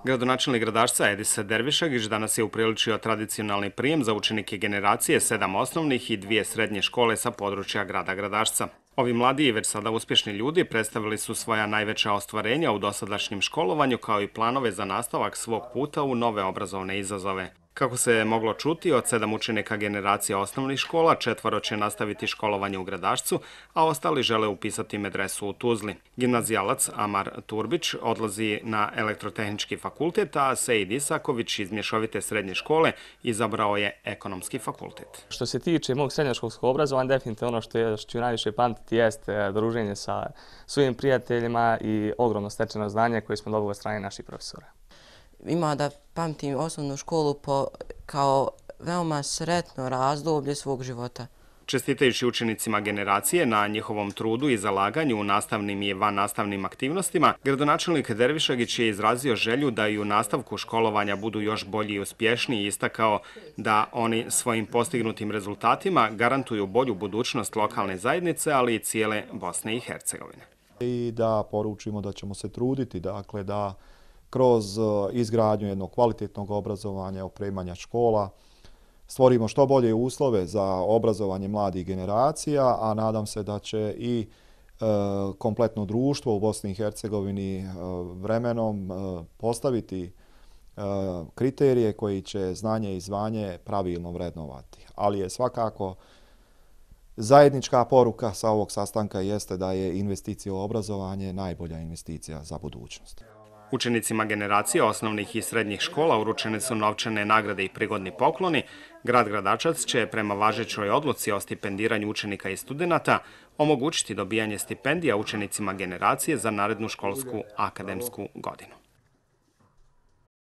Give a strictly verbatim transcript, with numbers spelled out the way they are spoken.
Gradonačelnik Gradačca Edis Dervišagić danas je upriličio tradicionalni prijem za učenike generacije sedam osnovnih i dvije srednje škole sa područja grada Gradačca. Ovi mladi i već sada uspješni ljudi predstavili su svoja najveća ostvarenja u dosadašnjem školovanju kao i planove za nastavak svog puta u nove obrazovne izazove. Kako se je moglo čuti, od sedam učenika generacije osnovnih škola, četvoro će nastaviti školovanje u Gradačcu, a ostali žele upisati medresu u Tuzli. Gimnazijalac Amar Turbić odlazi na elektrotehnički fakultet, a Sejid Isaković iz mješovite srednje škole izabrao je ekonomski fakultet. Što se tiče mog srednjoškolskog obrazovanja, definitivno ono što, je, što ću najviše pamtiti jeste druženje sa svojim prijateljima i ogromno stečeno znanje koje smo dobili od strane naših profesora. Ima da pamtim osnovnu školu po, kao veoma sretno razdoblje svog života. Čestitajući učenicima generacije na njihovom trudu i zalaganju u nastavnim i vannastavnim aktivnostima, gradonačelnik Dervišagić je izrazio želju da i u nastavku školovanja budu još bolji i uspješniji i istakao da oni svojim postignutim rezultatima garantuju bolju budućnost lokalne zajednice, ali i cijele Bosne i Hercegovine. I da poručimo da ćemo se truditi, dakle da kroz izgradnju jednog kvalitetnog obrazovanja, opremanja škola, stvorimo što bolje uslove za obrazovanje mladih generacija, a nadam se da će i e, kompletno društvo u Bosni i Hercegovini e, vremenom e, postaviti e, kriterije koji će znanje i zvanje pravilno vrednovati. Ali je svakako zajednička poruka sa ovog sastanka jeste da je investicija u obrazovanje najbolja investicija za budućnost. Učenicima generacije osnovnih i srednjih škola uručene su novčane nagrade i prigodni pokloni. Grad Gradačac će prema važećoj odluci o stipendiranju učenika i studenata omogućiti dobijanje stipendija učenicima generacije za narednu školsku akademsku godinu.